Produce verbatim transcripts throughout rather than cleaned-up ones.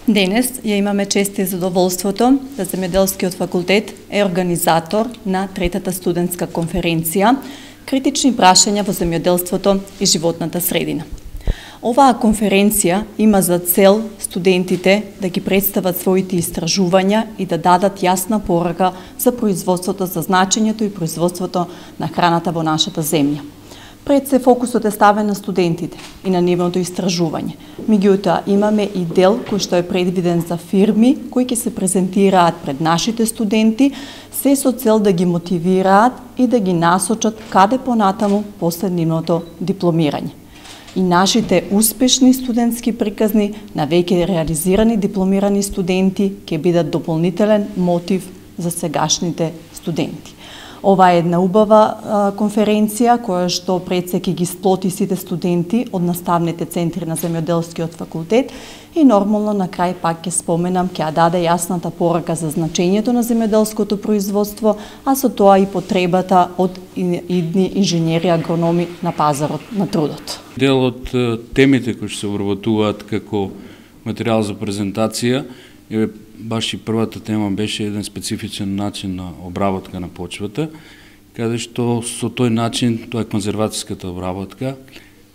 Денес ја имаме чест и задоволството да Земјоделскиот факултет е организатор на третата студентска конференција Критични прашања во земјоделството и животната средина. Оваа конференција има за цел студентите да ги представат своите истражувања и да дадат јасна порака за производството, за значењето и производството на храната во нашата земја. Пред се фокусот е ставен на студентите и на нивното истражување. Меѓутоа, имаме и дел кој што е предвиден за фирми кои ќе се презентираат пред нашите студенти, се со цел да ги мотивираат и да ги насочат каде понатаму после нивното дипломирање. И нашите успешни студентски приказни на веќе реализирани дипломирани студенти ќе бидат дополнителен мотив за сегашните студенти. Ова е една убава а, конференција која што пред се ќе ги сплоти сите студенти од наставните центри на Земјоделскиот факултет и нормално на крај пак ќе споменам, ќе даде јасната порака за значењето на земјоделското производство, а со тоа и потребата од идни инженери агрономи на пазарот на трудот. Дел од темите кои се вработуваат како материјал за презентација е баш и првата тема беше еден специфичен начин на обработка на почвата, каде што со тој начин, тоа е конзервацијската обработка,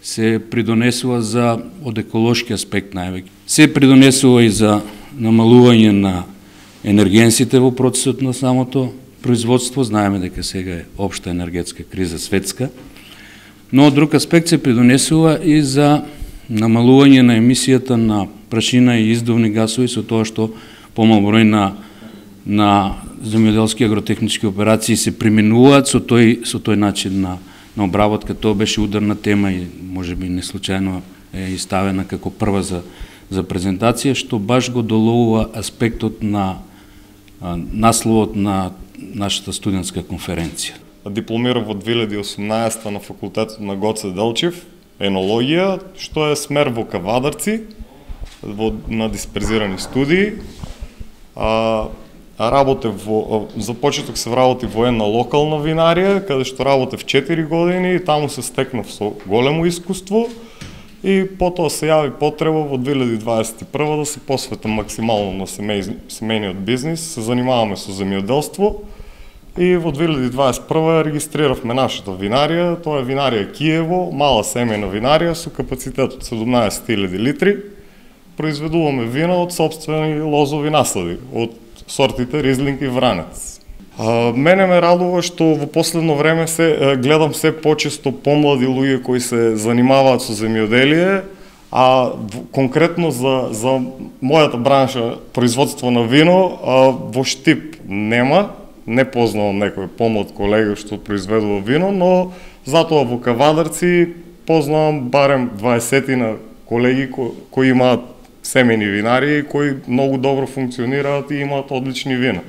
се придонесува за од еколошки аспект највеќе. Се придонесува и за намалување на енергенсите во процесот на самото производство. Знаеме дека сега е општа енергетска криза светска, но од друг аспект се придонесува и за намалување на емисијата на прашина и издувни гасови со тоа што помал број на на земјоделски агротехнички операции се применуваат со тој со тој начин на на обработка. Тоа беше ударна тема и можеби не случајно е иставена како прва за за презентација, што баш го доловува аспектот на а, насловот на нашата студентска конференција. Дипломирав во две илјади и осумнаесета на факултетот на Гоце Делчев, енологија, што е смер во кавадарци, во, на дисперзирани студии. А, работев во, започеток се работи во една локална винарија, каде што работев четири години и таму се стекнав со големо искуство и потоа се јави потреба во две илјади дваесет и прва да се посветам максимално на семеј, семејниот бизнис, се занимаваме со земјоделство и во две илјади дваесет и прва регистриравме нашата винарија, тоа е винарија Киево, мала семејна винарија со капацитет од седумнаесет илјади литри. Произведуваме вина од сопствени лозови наслади, од сортите Ризлинг и Вранец. А, мене ме радува што во последно време се гледам се почесто помлади луѓе кои се занимаваат со земјоделие, а конкретно за, за мојата бранша, производство на вино, а, во Штип нема, не познавам некој помлад колега што произведува вино, но затоа во Кавадарци познавам барем дваесетина колеги кои, кои имаат семени винари кои многу добро функционираат и имаат одлични вина.